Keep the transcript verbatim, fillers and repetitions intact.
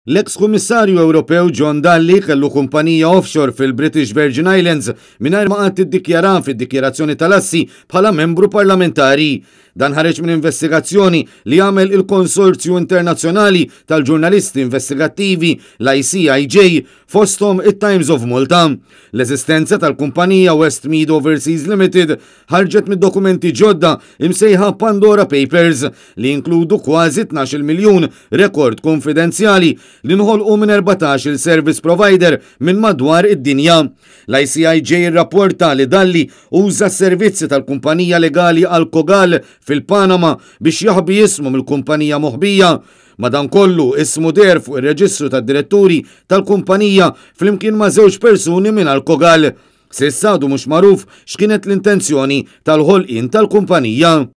L-eks Kummissarju Ewropew John Dalli kellu kumpanija offshore fil-British Virgin Islands mingħajr ma qatt iddikjara fid-dikjarazzjoni tal-assi bħala membru parlamentari. Dan ħareġ minn investigazzjoni li għamel il-Konsorzju Internazzjonali tal-Ġurnalisti Investigattivi, l-I C I J, fosthom it-Times of Malta. L-eżistenza tal-kumpanija Westmead Overseas Limited ħarġet mid-dokumenti ġodda imsejħa Pandora Papers, li jinkludu kważi tnax-il miljun rekord konfidenzjali li nħolqu minn erbatax-il service provider minn madwar id-dinja. L-I C I J rapporta li Dalli uża s-servizzi tal-kumpanija legali Alcogal fil-Panama biex jaħbi ismu mill-kumpanija moħbija. Madankollu, ismu deher fuq ir-reġistru tad-diretturi tal-kumpanija flimkien ma' żewġ persuni minn Alcogal. S'issa għadu mhux magħruf x'kienet l-intenzjoni tal-ħolqien tal-kumpanija.